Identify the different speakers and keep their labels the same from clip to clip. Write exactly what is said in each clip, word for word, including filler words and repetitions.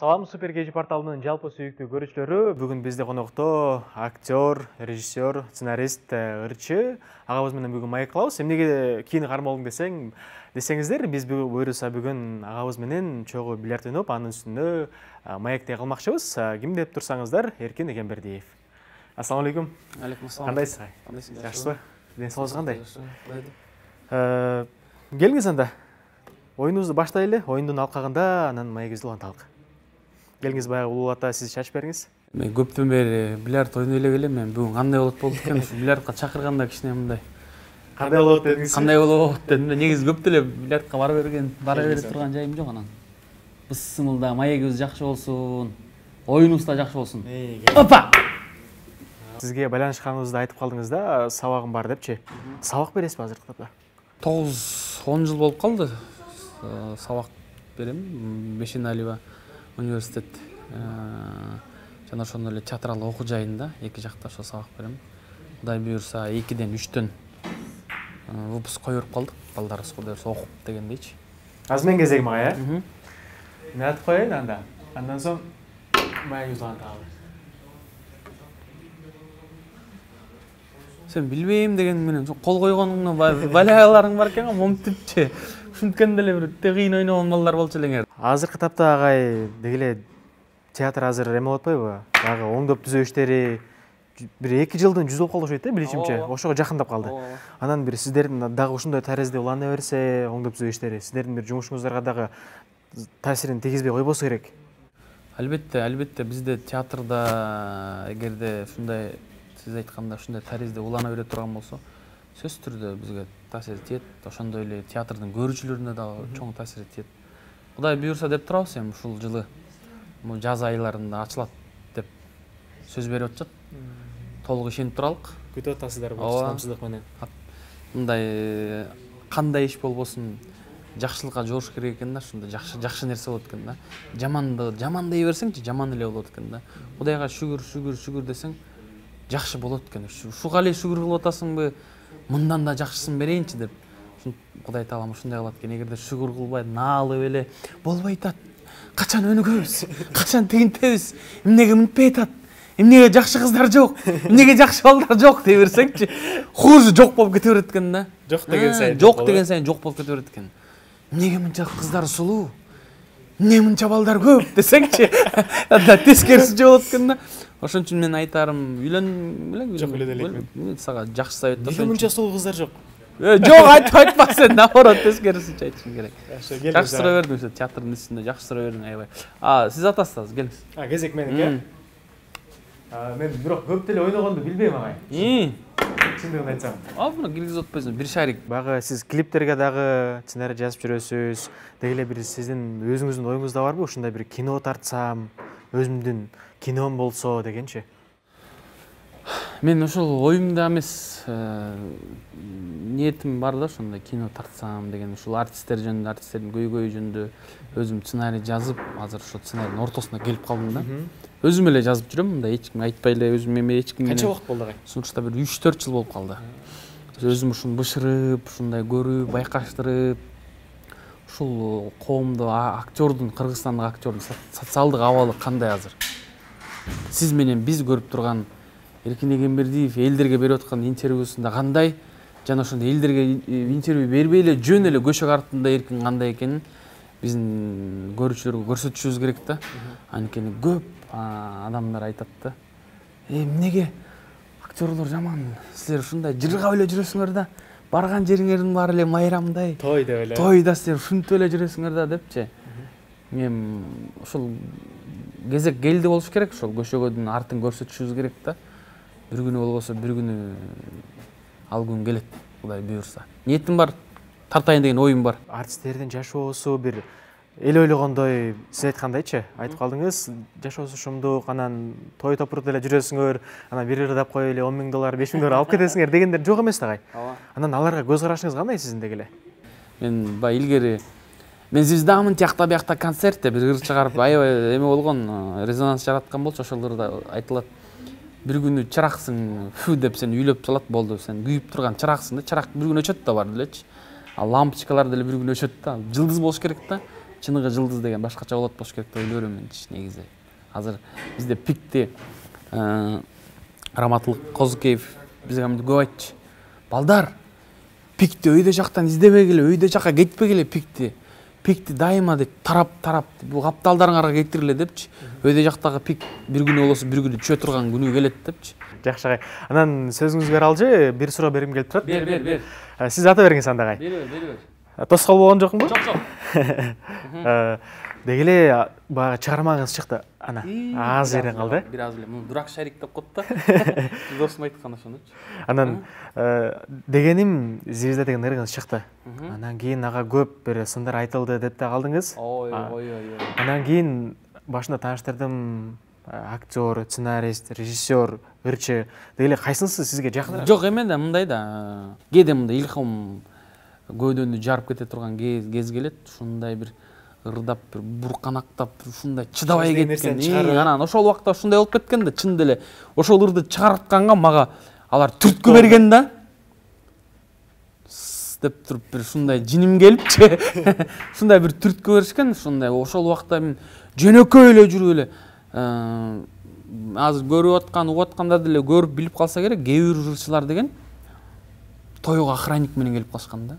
Speaker 1: Салам, Супер Кежи порталынын жалпы сүйүктүү көрүүчүлөрү. Бүгүн бизде конокто актер, режиссер, сценарист Ырчы агабыз менен бүгүн маек кылабыз. Эмнеге кийин кармалдың десең, десеңиздер, биз буюрса бүгүн агабыз менен чогуу бильярд ойноп, анын үстүндө маекте кылмакчыбыз. Ким деп турсаңыздар, Эркин Эгембердиев. Ассаламу алейкум.
Speaker 2: Алейкум ассалам.
Speaker 1: Кандайсыз?
Speaker 2: Кандайсыз?
Speaker 1: Жакшысызбы? Ден соолугуңуз кандай? Э, келиңиз анда. Оюнубузду баштайлы. Оюндун алкагында анан маегибизди уланталык. Келиңиз, баягы улуу ата, сиз чачып бериңиз.
Speaker 2: Мен көптөн бери бильярд ойной эле келем. Мен бүгүн кандай болот болду экен, ушу бильярдка чакырганда кичине мындай.
Speaker 1: Кандай болот дедиңиз?
Speaker 2: Кандай болот дедим. Негизи көп деле бильярдка бара берген, бара берип турган жайым жок анан. Ысымылда маегибиз жакшы болсун, оюнубуз да жакшы болсун. Опа!
Speaker 1: Сизге байланышканыбызды айтып калдыңыз да, сабагым бар депчи. Сабак бересизби азыркы тапта?
Speaker 2: тогуз он жыл болуп калды. Сабак берем. Бешеналиева университет жана ошондой эле театралдык окуу жайында эки жакта ошо сабак берем. Кудай буюрса экиден үчтөн выпуск коюп калдык. Балдарыбыз кудай буюрса окуп дегендейчи.
Speaker 1: Азыр мен кезегим ага, э? Мен айтып коеюн анда. Андан соң маегибизди улантабыз.
Speaker 2: Сен билбейм деген менен кол койгонуңна балагаларың бар экен, момтипчи. Ушинткенде эле бир өтө кыйын ойногон балдар болчу элеңер.
Speaker 1: Азыркы тапта агай дегеле театр азыр эме болуп атпайбы? Дагы оңдоп түзөө иштери бир эки жылдын жүз болуп калды окшойт да, билишимче. Ошого жакындап калды. Анан бир сиздердин дагы ушундай тарезде улана берсе, оңдоп түзөө иштери, сиздердин бир жумушуңуздарга дагы таасирин тийгизбей койбосо керек.
Speaker 2: Албетте, албетте бизде театрда эгерде ушундай сиз айтканда ушундай тарезде улана бере турган болсо, сөзсүз түрдө бизге таасир тиет. Ошондой эле театрдын көрүүчүлөрүнө дагы чоң таасир тиет. Кудай буюрса деп турабыз, эми ушул жылы жаз айларында ачылат деп сөз берип атышат. Толук ишенип туралык.
Speaker 1: Күтүп атасыздар бул чыдамсыздык менен.
Speaker 2: Мындай кандай иш болбосун жакшылыкка жоруш керек экен да, ушундай жакшы жакшы нерсе болот экен да. Жаманды жаман дей берсеңчи, жаман эле болот экен да. Кудайга шүгүр, шүгүр, шүгүр десең, жакшы болот экен. Ушуга эле шүгүр кылып атасыңбы, мындан да жакшысын берейинчи деп. Кудай таалам ушундай кылат экен. Эгерде шүгүр кылбай, наалып эле болбой атат. Качан өнүгөбүз? Качан тигинтебиз? Эмнеге мынтпай атат? Эмнеге жакшы кыздар жок? Эмнеге жакшы балдар жок дей берсеңчи, хуже жок болуп кете берет экен да.
Speaker 1: Жок деген сайын
Speaker 2: жок деген сайын жок болуп кете берет экен. Эмнеге мынча кыздар сулуу? Эмне мынча балдар көп десеңчи, анда тескерисинче болот экен да. Ошон үчүн мен айтарым, үйлөн белең,
Speaker 1: жок эле элекмин.
Speaker 2: Мен сага жакшы совет берсем.
Speaker 1: Эмнеге мынча сулуу кыздар жок?
Speaker 2: Жок, айтпа, айтпа сен, наоборот, тескерисинче айтышың керек. Жакшы суроо бердиң, ошо театрдын үстүндө жакшы суроо бердиң, аябай. А, сиз атасыз, келиңиз.
Speaker 1: А, кезек меники. А, мен бирок көп деле ойногонду билбейм агай.
Speaker 2: И.
Speaker 1: Чындыгын айтсам.
Speaker 2: А, буну киргизип атпайсың, бир шарик.
Speaker 1: Багы сиз клиптерге дагы сценарий жазып жүрөсүз. Дегеле бир сиздин өзүңүздүн оюңузда барбы? Ушундай бир кино тартсам, өзүмдүн кином болсо дегенчи.
Speaker 2: Мен ошол оюмда эмес, ниетим бар да, ошондой кино тартсам деген, ушул артисттер жөнүндө, артисттердин көйгөйү жөнүндө өзүм сценарий жазып, азыр ошо сценарийдин ортосуна келип калдым да. Өзүм эле жазып жүрөм, мындай эч ким айтпай эле өзүм эме эч ким менен.
Speaker 1: Канча убакыт болду агай?
Speaker 2: Сунушта бир үч төрт жыл болуп калды. Өзүм ушуну бышырып, ушундай көрүп, байкаштырып, ушул коомдо актердун, кыргызстандык актердун социалдык абалы кандай азыр? Сиз менен биз көрүп турган Эркин Эгембердиев элдерге берип аткан интервьюсунда кандай, жана ошондой элдерге интервью бербей эле жөн эле көчөк артында Эркин кандай экенин биздин көрүүчүлөргө көрсөтүшүбүз керек да. Анткени көп адамдар айтат да. Э, эмнеге актерлор жаман? Силер ушундай жыргап эле жүрөсүңөр да. Барган жериңердин баары эле майрамдай.
Speaker 1: Той деп эле.
Speaker 2: Тойда силер ушинтип эле жүрөсүңөр да депчи. Мен ошол кезек келди болуш керек, ошол көчөгөдүн артын көрсөтүшүбүз керек да. Бир күнү болбосо бир күнү ал күн келет, Кудай буюрса. Ниетим бар, тартайын деген оюм бар.
Speaker 1: Артисттердин жашоосу бир эл ойлогондой, сиз айткандайчы, айтып калдыңыз, жашоосу шумдук, анан той топурда эле жүрөсүңөр, анан бир ырдап коюп эле он миң доллар, беш миң доллар алып кетесиңер дегендер жок эмес тагай. Анан аларга көз карашыңыз кандай сиздин дегеле?
Speaker 2: Мен бай илгери мен звездамын тиякта биякта концертте бир ыр чыгарып аябай эме болгон, резонанс жараткан болчу, ошол ырда айтылат. Бир күнү чыраксың, фу деп сени үйлөп салат, болду. Сен күйүп турган чыраксың да, чырак бир күнү өчөт да бар делечи. А лампочкалар деле бир күнү өчөт да. Жылдыз болуш керек да. чыныгы жылдыз деген башкача болот болуш керек деп ойлой берем менчи негизи. Азыр бизде пикти Раматылык Козукеев бизге мынтип көп айтчы. Балдар, пикти өйдө жактан издебегиле, өйдө жакка кетпегиле пикти. Пикти дайыма деп тарап-тарап бул капталдарыңарга кетириле депчи. Өйдө жактагы пик бир күнү болосо бир күнү түшө турган күнү келет депчи.
Speaker 1: Жакшы агай. Анан сөзүңүзгө аралжы бир суроо берим келип турат.
Speaker 2: Бер, бер, бер.
Speaker 1: Сиз ата бериңиз анда агай.
Speaker 2: Бер, бер, бер.
Speaker 1: Тоскоол болгон жокмунбу?
Speaker 2: Жок, жок.
Speaker 1: Деги эле баягы чыгармаңыз чыкты. Ана аз жерден калды.
Speaker 2: Бир аз эле. Муну дурак шарик деп коет да. Досум айткан ошонучу.
Speaker 1: Анан дегеним сизде деген ырыгыңыз чыкты. Анан кийин ага көп бир сындар айтылды деп да калдыңыз.
Speaker 2: Ой, ой, ой.
Speaker 1: Анан кийин башында тааныштырдым, актер, сценарист, режиссер, ырчы. Деги эле кайсынысы сизге жакыныраак?
Speaker 2: Жок, эме да мындай да. Кээде мындай илхам көөдөнү жарып кете турган кез келет. Ушундай бир ырдап, бир бурканактап, ушундай чыдабай кеткен. Анан ошол убакта ушундай болуп кеткен да, чын деле. Ошол ырды чыгартканга мага алар түрткү берген да. Деп туруп бир ушундай жиним келипчи. Ушундай бир түрткү беришкен, ушундай. Ошол убакта мен жөнөкөй эле жүрүп эле азыр көрүп аткан, угуп аткандар деле көрүп билип калса керек, кээ бир ырчылар деген тойго охранник менен келип калышкан да.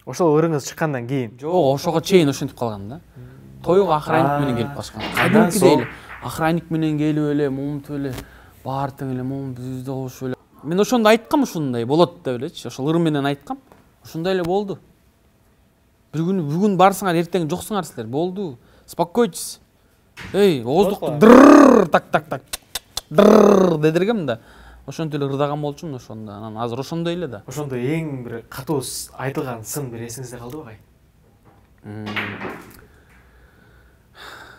Speaker 1: Ошол ырыңыз чыккандан кийин?
Speaker 2: Жок, ошого чейин ошентип калган да. Тойго охранник менен келип калышкан. Кадимкидей эле охранник менен келип эле, момунтип эле баары тең эле момунтип бизде болушу эле. Мен ошондо айткам ушундай болот деп элечи. Ошол ыр менен айткам. Ошондой эле болду. Бир күнү бүгүн барсыңар, эртең жоксуңар силер. Болду. Спокойтесь. Эй, ооздукту дыр так так так дыр дедиргем да. Ошентип эле ырдаган болчумун ошондо. Анан азыр ошондой эле да.
Speaker 1: Ошондо эң бир катуу айтылган сын бир эсиңизде калдыбы агай?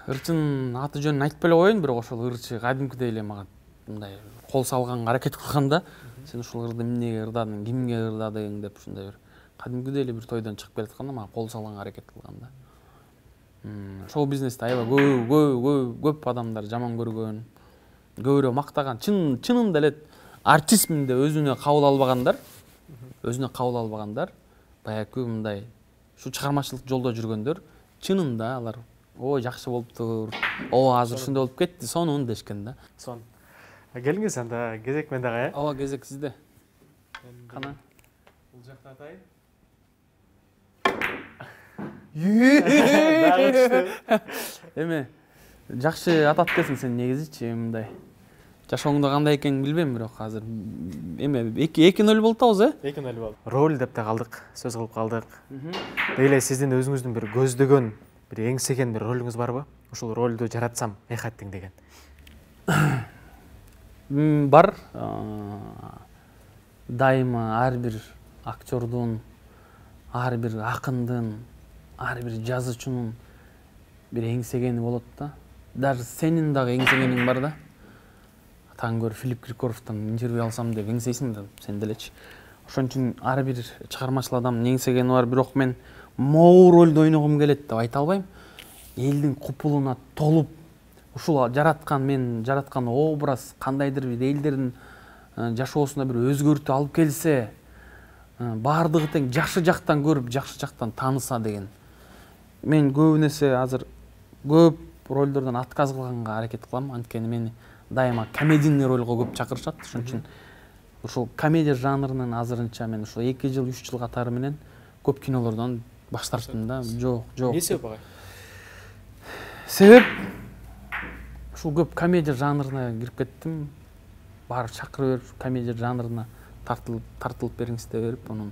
Speaker 2: Ырчынын аты жөнүн айтпай эле коеюн, бирок ошол ырчы кадимкидей эле мага мындай кол салганга аракет кылганда, сен ушул ырды эмнеге ырдадың, кимге ырдадың деп ушундай бир кадимкидей эле бир тойдон чыгып келатканда мага кол салганга аракет кылган да. Шоу бизнесте аябай көп көп көп адамдар жаман көргөн, көбүрөөк мактаган, чын чынында эле артистмин деп өзүнө кабыл албагандар, өзүнө кабыл албагандар, баягы мындай ушу чыгармачылык жолдо жүргөндөр, чынында алар ой жакшы болуптур, о азыр ушундай болуп кетти, сонун дешкен да.
Speaker 1: Сон. Келиңиз анда кезек менде агай.
Speaker 2: Ооба, кезек сизде. Кана.
Speaker 1: Бул жакта атайын.
Speaker 2: Эме жакшы атат экенсиң сен негизичи, мындай. Жашооңдо кандай экенин билбейм, бирок азыр эме эки нөл болуп атабыз, э?
Speaker 1: эки нөл болду. Роль деп да калдык, сөз кылып калдык. Деги эле сиздин өзүңүздүн бир көздөгөн, бир эңсеген бир ролуңуз барбы? Ушул ролду жаратсам эйхаттың деген.
Speaker 2: Бар. Дайыма ар бир актердун, ар бир акындын, ар бир жазуучунун бир эңсегени болот да. Даже сенин дагы эңсегениң бар да. Таң көр Филипп Киркоровдон интервью алсам деп эңсейсиң да, сен делечи. Ошон үчүн ар бир чыгармачыл адамдын эңсегени бар, бирок мен могу ролду ойногум келет деп айта албайм. Элдин купулуна толуп, ушул жараткан мен жараткан образ кандайдыр бир элдердин жашоосуна бир өзгөртүү алып келсе, баардыгы тең жакшы жактан көрүп, жакшы жактан тааныса деген. Мен көп нерсе азыр көп ролдордон отказ кылганга аракет кылам, анткени мени дайыма комедийный ролго көп чакырышат. Ошон үчүн ушул комедия жанрынын азырынча мен ушул эки жыл, үч жыл катары менен көп кинолордон баш тарттым да. Жок, жок.
Speaker 1: Эмне себеп агай?
Speaker 2: Себеп ушул көп комедия жанрына кирип кеттим. Барып чакырып берип, комедия жанрына тартылып, тартылып бериңиз деп берип, анан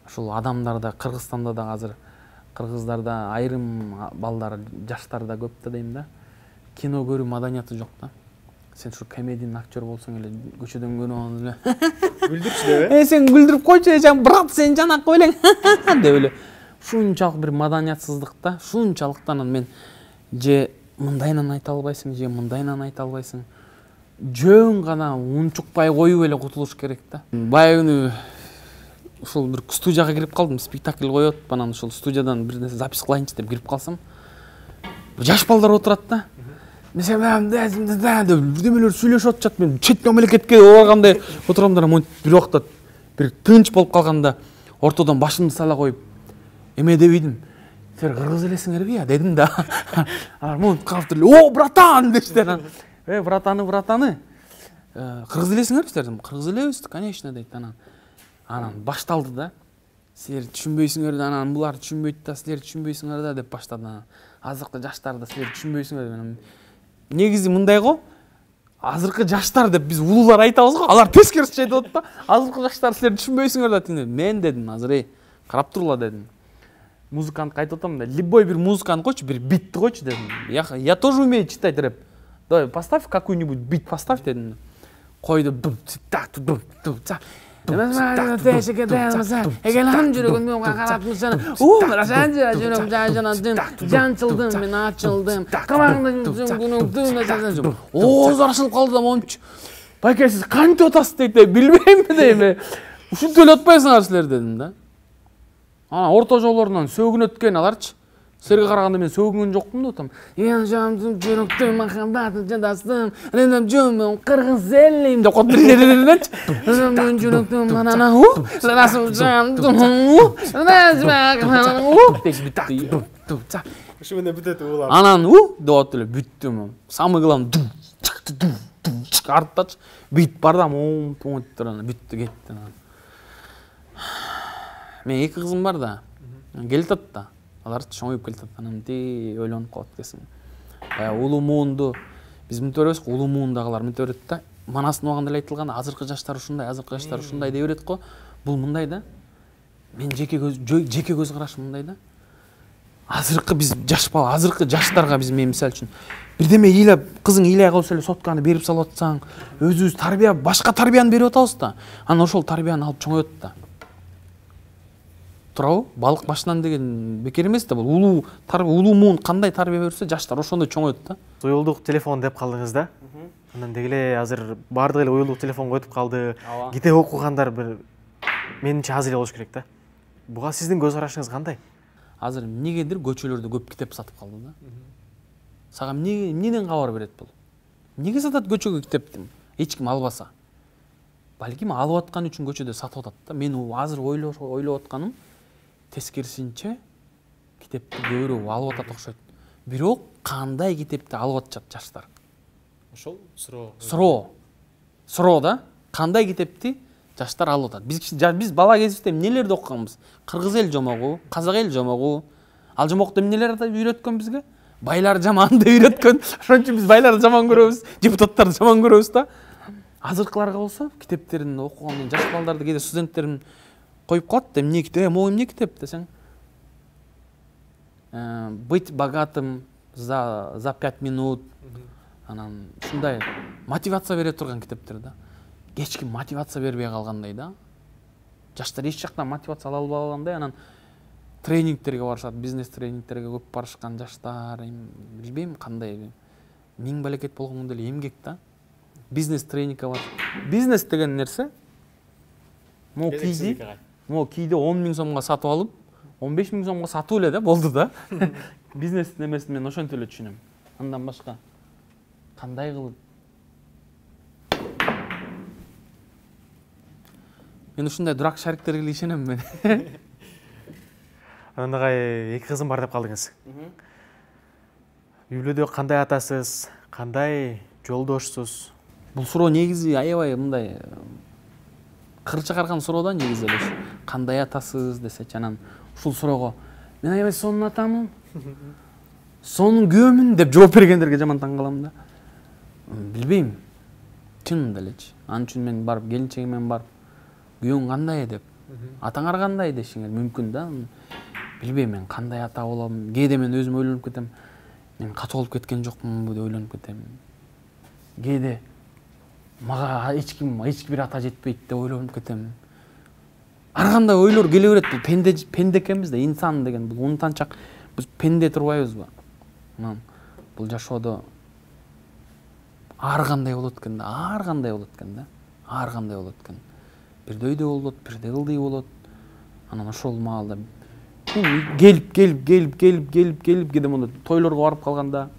Speaker 2: ушул адамдарда, Кыргызстанда да азыр кыргыздарда айрым балдар, жаштар да көп да дейм да. Кино көрүү маданияты жок да. Сен ушу комедийный актер болсоң эле көчөдөн көрүп алып эле
Speaker 1: Күлдүрчү деп,
Speaker 2: э? Э сен күлдүрүп койчу, эжан, брат, сен жанак белең деп эле. Ушунчалык бир маданиятсыздык да. Ушунчалыктан мен же мындайынан айта албайсың, же мындайынан айта албайсың. Жөн гана унчукпай коюп эле кутулуш керек да. Бая күнү ушул бир студияга кирип калдым, спектакль коет, анан ушул студиядан бир нерсе запись кылайынчы деп кирип калсам, жаш балдар отурат да. Мен бирдемелер сүйлөшүп атышат, мен чет мамлекетке баргандай отургамдар, бир убакта бир тынч болуп калганда ортодон башымды сала коюп, эме дебейдим. силер кыргыз элесиңерби я дедим да. Алар монтип калып туруп эле, о братан дештер. Э братаны братаны кыргыз элесиңерби силер дедим. Кыргыз элебиз конечно дейт. Анан анан башталды да. Силер түшүнбөйсүңөр да, анан булар түшүнбөйт да, силер түшүнбөйсүңөр да деп баштады. Азыркы жаштар да силер түшүнбөйсүңөр. Негизи мындай го. Азыркы жаштар деп биз улуулар айтабыз го, алар тескерисинче айтып атат да. Азыркы жаштар силер түшүнбөйсүңөр да дейт. Мен дедим азыр эй, карап турла дедим. Музыкантка айтып атам да, любой бир музыканы койчу, бир битти койчу дедим. Я я тоже умею читать рэп. Давай поставь какой-нибудь бит, поставь дедим. Койду. Эгелам жүрөгүм мага карап турсана. У, расаң жүрөгүм жайжанадым. Жанчылдым, мен ачылдым. Камаңды күнүңдү. Ооз аршылып калды да момчу. Байке сиз кантип атасыз дейт, билбейм дейм. Ушинтип эле атпайсыңар силер дедим да. Анан орто жолдорунан сөгүн өткөн аларчы. Силерге караганда мен сөгүнгөн жокмун да атам. Эн жамдым жүрөктү махаббатын жадастым. Ренем жөмөм кыргыз элим деп коп бердинечи. Ренем жүрөктүм манана у. Расым жамдым у. Расым битти.
Speaker 1: Ушу менен бүтөт улам.
Speaker 2: Анан у деп атып эле бүттүм. Самый главный арттачы бит бар да мом понт туран бүттү кетти. Мен эки кызым бар да. Келатат да. Алар чоңоюп келатат. Анан ти ойлонуп калат экенсиң. Баягы улуу муунду биз мынтип беребиз го, улуу муундагылар мынтип берет да. Манастын убагында эле айтылган, азыркы жаштар ушундай, азыркы жаштар ушундай деп берет го. Бул мындай да. Мен жеке көз жеке көз карашым мындай да. Азыркы биз жаш бала, азыркы жаштарга биз мен мисалы үчүн бирдеме ыйлап, кызың ыйлай калса эле сотканы берип салып атсаң, өзүбүз тарбия, башка тарбияны берип атабыз да. Анан ошол тарбияны алып чоңоет да. Туурабы? Балык башынан деген бекер эмес да. Бул улуу тарбия, улуу муун кандай тарбия берсе, жаштар ошондой чоңоет да.
Speaker 1: Уюлдук телефон деп калдыңыз да. Анан деги эле азыр баардык эле уюлдук телефонго өтүп калды. Китеп окугандар бир менимче аз эле болуш керек да. Буга сиздин көз карашыңыз кандай?
Speaker 2: Азыр эмнегедир көчөлөрдө көп китеп сатып калды да. Сага эмне эмнеден кабар берет бул? Эмнеге сатат көчөгө китепти? Эч ким албаса. Балким алып аткан үчүн көчөдө сатып атат да. Мен азыр ойлоп ойлоп атканым тескерисинче китепти көбүрөөк алып атат окшойт. Бирок кандай китепти алып атышат жаштар?
Speaker 1: Ошол суроо.
Speaker 2: Суроо. Суроо да. Кандай китепти жаштар алып атат? Биз биз бала кезибизде эмнелерди окуганбыз? Кыргыз эл жомогу, казак эл жомогу. Ал жомокто эмнелер үйрөткөн бизге? Байлар жаман деп үйрөткөн. Ошон үчүн биз байларды жаман көрөбүз, депутаттарды жаман көрөбүз да. Азыркыларга болсо китептерин окугандан жаш балдарды кээде студенттерим коюп калат да, эмне китеп, могу эмне китеп десең. Быть богатым за за пять минут. Анан ушундай мотивация бере турган китептер да. Эч ким мотивация бербей калгандай да. Жаштар эч жактан мотивация ала албагандай, анан тренингтерге барышат, бизнес тренингтерге көп барышкан жаштар, билбейм кандай. Миң балекет болгондо эле эмгек да. Бизнес тренингге бар. Бизнес деген нерсе могу кийди, могу кийди он миң сомго сатып алып, он беш миң сомго сатып эле да, болду да. Бизнес немесин мен ошентип эле түшүнөм. Андан башка кандай кылып? Мен ушундай дурак шариктерге ишенем мен.
Speaker 1: Андагы эки кызым бар деп калдыңыз. Үй бүлөдө кандай атасыз, кандай жолдошсуз?
Speaker 2: Бул суроо негизи аябай мындай кыр чыгарган суроо да негизи эле. Кандай атасыз десечи, анан ушул суроого мен аябай сонун атамын, сонун күйөөмүн деп жооп бергендерге жаман таң калам да. Билбейм. Чынында элечи. Анын үчүн мен барып келинчегим менен барып күйөөң кандай деп, атаңар кандай дешиңер мүмкүн да. Билбейм мен кандай ата болом. Кээде мен өзүм ойлонуп кетем. Мен катуу болуп кеткен жокмунбу деп ойлонуп кетем. Кээде мага эч ким, эч бир ата жетпейт деп ойлонуп кетем. Ар кандай ойлор келе берет. Бул пенде пенде экенбиз да, инсан деген бул унтанчак. Биз пенде турбайбызбы? Анан бул жашоодо ар кандай болот экен да, ар кандай болот экен да. Ар кандай болот экен. Бирде өйдө болот, бирде ылдый болот. Анан ошол маалда келип келип келип келип келип келип кээде монда тойлорго барып калганда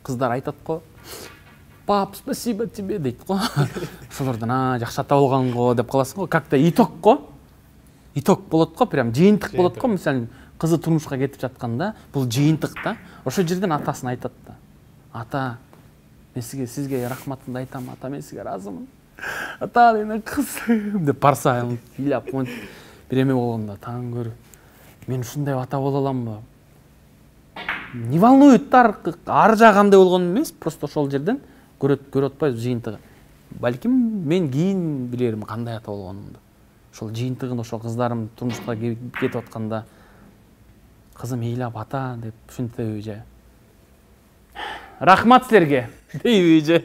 Speaker 2: кыздар айтат го. Пап, спасибо тебе дейт го. Ошолордон а жакшы ата болгон го деп каласың го. Как-то итог го. Итог болот го, прям жыйынтык болот го. Мисалы кызы турмушка кетип жатканда бул жыйынтык да. Ошол жерден атасына айтат да. Ата, мен сизге сизге рахматымды айтам, ата, мен сизге ыраазымын. Ата, менин кызым деп барса ыйлап бир эме болгондо таң көрүп, мен ушундай ата боло аламбы? Не волнует ар жагы кандай болгонун эмес, просто ошол жерден көрөт көрүп атпайбыз жыйынтыгы. Балким мен кийин билерим кандай ата болгонумду. Ошол жыйынтыгын ошол кыздарым турмушка кетип атканда кызым ыйлап ата деп ушинтеби же. Рахмат силерге дейби же.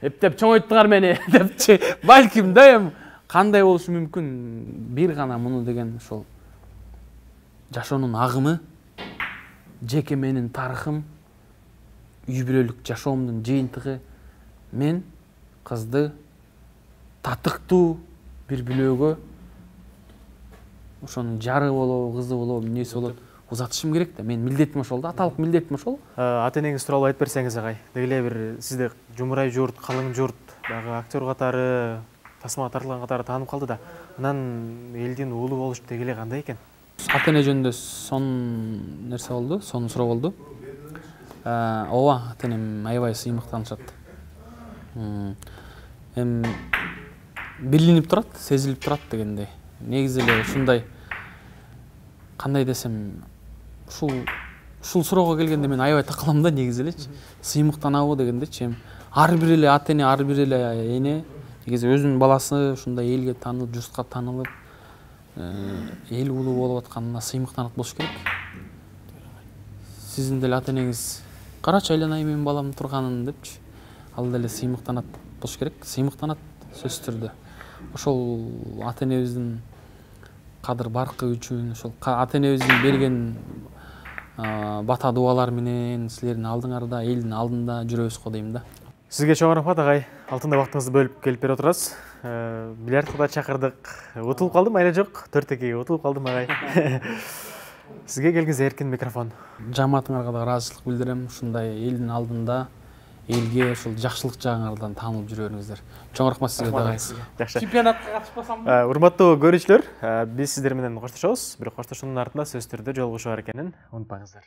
Speaker 2: Эптеп чоңойттуңар мени депчи. Балким да эми кандай болушу мүмкүн? Бир гана муну деген ошол жашоонун агымы, жеке менин тарыхым, үй бүлөлүк жашоомдун жыйынтыгы. Мен кызды татыктуу бир бүлөгө ошонун жары болобу, кызы болобу, эмнеси болобу узатышым керек да. Мен милдетим ошол да, аталык милдетим ошол.
Speaker 1: Ата энеңиз тууралуу айтып берсеңиз агай. Деги эле бир сизди жумурай журт, калың журт, дагы актер катары, тасмага тартылган катары таанып калды да. Анан элдин уулу болуш деги эле кандай экен?
Speaker 2: Ата эне жөнүндө сонун нерсе болду, сонун суроо болду. Ооба, ата энем аябай сыймык таанышат. Эми билинип турат, сезилип турат дегендей. Негизи эле ушундай кандай десем, ушул ушул суроого келгенде мен аябай такалам да негизи элечи. Сыймыктанабы дегендечи. Эми ар бир эле ата эне, ар бир эле эне негизи өзүнүн баласы ушундай элге таанылып, журтка таанылып, эл уулу болуп атканына сыймыктанат болуш керек. Сиздин деле ата энеңиз карачы айланайын менин балам турганын депчи. Ал деле сыймыктанат болуш керек. Сыймыктанат сөзсүз түрдө. Ошол ата энебиздин кадыр баркы үчүн, ошол ата энебиздин берген бата дуалар менен силердин алдыңарда, элдин алдында жүрөбүз го дейм да.
Speaker 1: Сизге чоң рахмат агай. Алтындай вактыңызды бөлүп келип берип отурасыз. Бильярдка да чакырдык. Утулуп калдым, айла жок. төрт экиге утулуп калдым агай. Сизге келгенде эркин микрофон.
Speaker 2: Жамаатыңарга да ыраазычылык билдирем. Ушундай элдин алдында элге ошол жакшылык жагыңардан таанылып жүрө бериңиздер. Чоң рахмат сизге дагы.
Speaker 1: Жакшы.
Speaker 2: Чемпионатка катышпасам.
Speaker 1: Урматтуу көрүүчүлөр, биз сиздер менен коштошобуз. Бирок коштошуунун артында сөзсүз түрдө жолугушуу бар экенин унутпаңыздар.